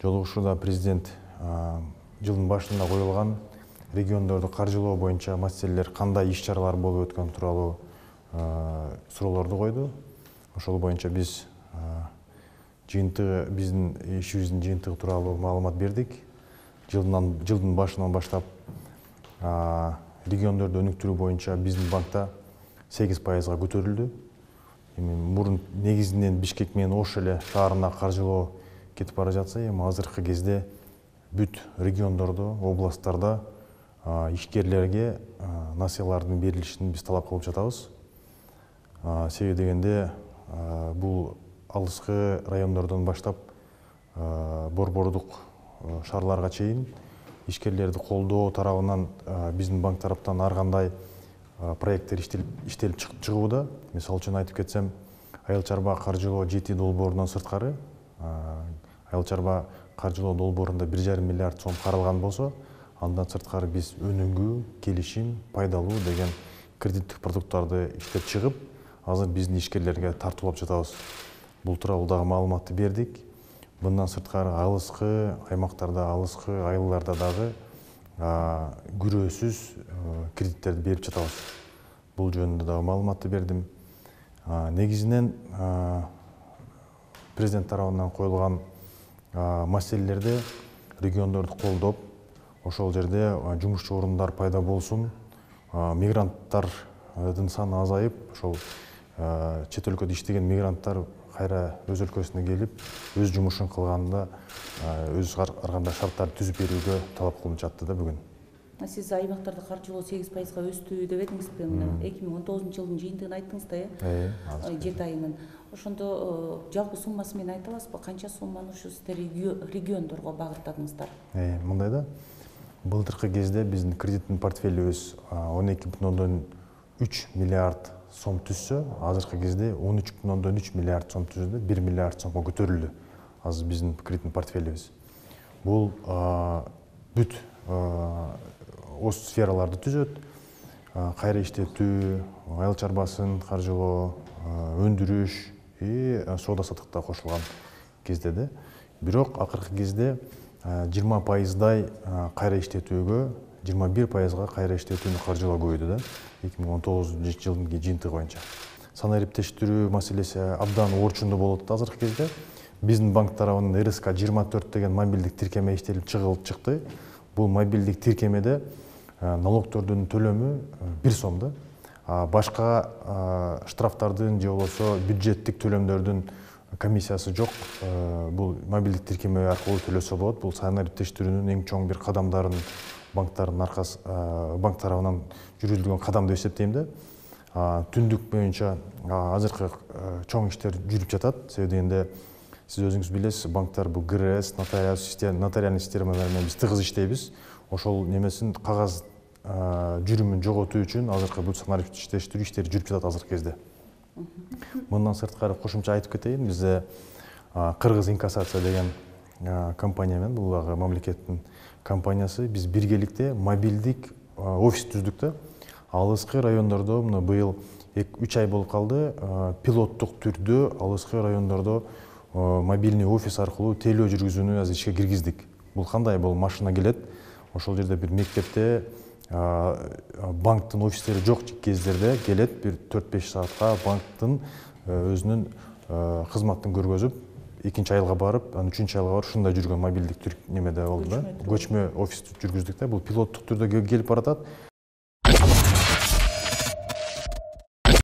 Жолугушууда президент жылдын башында коюлган региондорду каржылоо боюнча маселелер кандай иш-чаралар болуп өткөн тууралуу суроолорду койду. Ошол боюнча биз биздин ишибиздин жыйынтыгы тууралуу маалымат бердик. Жылдын башынан баштап региондорду өнүктүрүү боюнча биздин банкта 8%га көтөрүлдү. Мурун негизинен Бишкек менен Ош эле шаарына каржылоо кетип бара жатса, эми азыркы кезде бүт региондордо, областтарда ишкерлерге насыялардын берилишин биз талап кылып жатабыз. Себеби дегенде бул алыскы райондордон баштап борбордук шаарларга чейин ишкерлерди колдоо тарабынан биздин банк тараптан ар кандай проекттер иштелип чыгууда. Мисалы үчүн айтып кетсем, Айыл чарба каржылоо жети долбоорунан сырткары Айыл чарба каржылоо долбоорунда 1,5 миллиард сом каралган болсо, андан сырткары биз өнүгүү, келишим, пайдалуу деген кредиттик продукттарды иштеп чыгып, азыр биздин ишкерлерге тартуулап жатабыз. Бул тууралуу дагы маалыматты бердик. Мындан сырткары алыскы аймактарда, алыскы айылдарда дагы күрөөсүз кредиттерди берип жатабыз. Бул жөнүндө дагы маалыматты бердим. Негизинен президент тарабынан коюлган маселелерде региондорду колдоп, ошол жерде жумушчу орундар пайда болсун, мигранттардын саны азайып, ошол чет өлкөдө иштеген мигранттар кайра өз өлкөсүнө келип, өз жумушун кылганда өз ар кандай шарттарды түзүп берүүгө талап кылынып жатты да бүгүн. Сиз аймактарда каржылоо 8%га өстү деп этиңизби? 2019 жылдын жыйынтыгын айттыңыз да, 7 айынын. Ошондо жалпы суммасы менен айта аласызбы? Канча сумманы ушу сиздер региондорго багыттадыңыздар? Мындай да, былтыркы кезде биздин кредиттин портфелибиз 12,3 миллиард сом түзсө, азыркы кезде 13,3 миллиард сом түздү, 1 миллиард сомго көтөрүлдү азыр биздин кредиттин портфелибиз. Бул бүт сфераларды түзөт: кайра иштетүү, айыл чарбасын каржылоо, өндүрүш и соода саттыкта кошулган кезде да. Бирок акыркы кезде 20%дай кайра иштетүүгө, 21%га кайра иштетүүнү каржылоо көбөйдү да, 2019 жылдын жыйынтыгы боюнча. Санаа эриптештирүү маселеси абдан орчундуу болот азыркы кезде. Биздин банк тарабынан РСК 24 деген мобилдик тиркеме иштелип чыкты. Бул мобилдик тиркемеде налогтордун төлөмү 1 сом да. Башка штрафтардын же болбосо бюджеттик төлөмдөрдүн комиссиясы жок. Бул мобилдик тиркеме аркылуу төлөсө болот. Бул санаа эриптештирүүнүн эң чоң бир кадамдарын банк тарабынан жүргүзүлгөн кадам деп эсептейм да. Түндүк боюнча азыркы чоң иштер жүрүп жатат. Себеби дегенде сиз өзүңүз билесиз, банктар бул ГРС, нотариальный системалар менен биз тыгыз иштейбиз. Ошол немесин кагаз жүрүмүн жоготуу үчүн азыркы бул санаа эриптештирүү иштери жүрүп жатат азыркы кезде. Мындан сырткары кошумча айтып кетейин, бизде Кыргыз инкассация деген компания менен, бул дагы мамлекеттин компаниясы, биз биргеликте мобилдик офис түздүк да. Алыскы райондордо мына быйыл 3 ай болуп калды, пилоттук түрдө алыскы райондордо мобильный офис аркылуу тейлөө жүргүзүүнү азыр ишке киргиздик. Бул кандай? Бул машина келет, ошол жерде бир мектепте банктын офистери жок кездерде келет, бир 4-5 саатка банктын өзүнүн кызматын көргөзүп, 2-айылга барып, анан 3-айылга барып ушундай жүргөн мобилдик немеде болду да. Көчмө офис жүргүздүк да. Бул пилоттук түрдө келип баратат.